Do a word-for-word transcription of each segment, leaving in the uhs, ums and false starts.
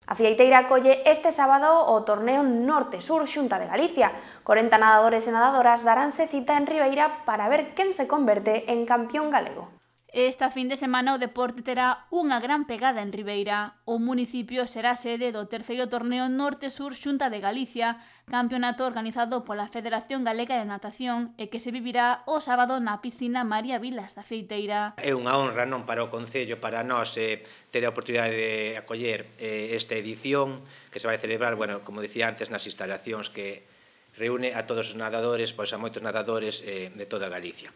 A Fieiteira acolle este sábado o torneo Norte-Sur Xunta de Galicia. corenta nadadores e nadadoras daránse cita en Ribeira para ver quen se converte en campeón galego. Esta fin de semana o deporte terá unha gran pegada en Ribeira. O municipio será sede do terceiro torneo Norte-Sur Xunta de Galicia, campeonato organizado pola Federación Galega de Natación e que se vivirá o sábado na piscina María Vilas da Fieiteira. É unha honra non para o Concello, para nós, eh, ter a oportunidade de acoller eh, esta edición que se vai celebrar, bueno, como dicía antes, nas instalacións que reúne a todos os nadadores, pois a moitos nadadores eh, de toda Galicia.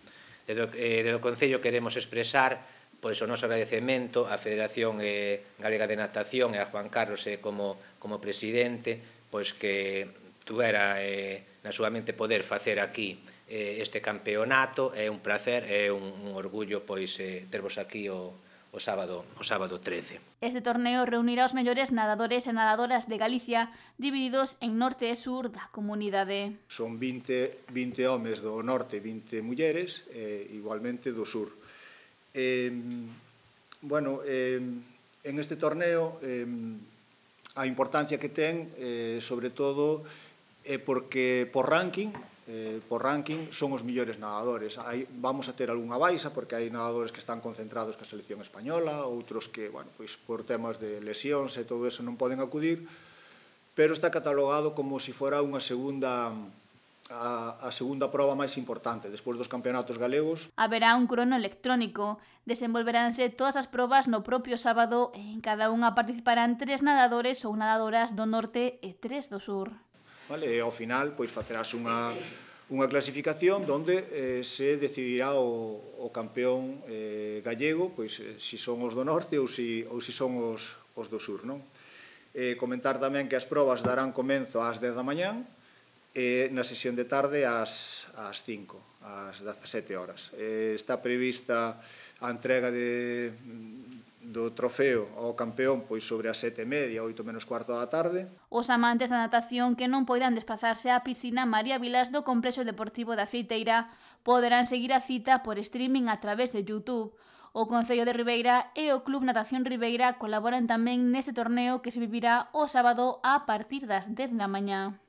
Desde o, eh, desde o Concello queremos expresar pois, o noso agradecemento á Federación eh, Galega de Natación e a Juan Carlos eh, como, como presidente, pois que tuvera eh, na súa mente poder facer aquí eh, este campeonato. É un placer, é un, un orgullo pois eh, tervos aquí o, o sábado o sábado trece. Este torneo reunirá os mellores nadadores e nadadoras de Galicia divididos en norte e sur da comunidade. Son vinte, vinte homes do norte e vinte mulleres, e igualmente do sur. Eh, bueno, eh, en este torneo eh, a importancia que ten, eh, sobre todo, é porque por ranking, eh, por ranking son os millores nadadores. Hai, vamos a ter algunha baixa porque hai nadadores que están concentrados ca selección española, outros que, bueno, pois por temas de lesións e todo eso non poden acudir, pero está catalogado como se fora unha segunda a, a segunda proba máis importante despois dos campeonatos galegos. Haberá un crono electrónico, desenvolveránse todas as probas no propio sábado e en cada unha participarán tres nadadores ou nadadoras do norte e tres do sur. Vale, e ao final pois facerás unha, unha clasificación onde eh, se decidirá o, o campeón eh, gallego, pois eh, si son os do norte ou si, ou si son os, os do sur, non? Eh, comentar tamén que as probas darán comenzo ás dez da mañán e na sesión de tarde ás, ás cinco, ás dezasete horas. Eh, está prevista a entrega de do trofeo ao campeón pois sobre as sete e media, oito menos cuarto da tarde. Os amantes da natación que non poidan desplazarse á piscina María Vilas do Complexo Deportivo da Fieiteira poderán seguir a cita por streaming a través de YouTube. O Concello de Ribeira e o Club Natación Ribeira colaboran tamén neste torneo que se vivirá o sábado a partir das dez da mañá.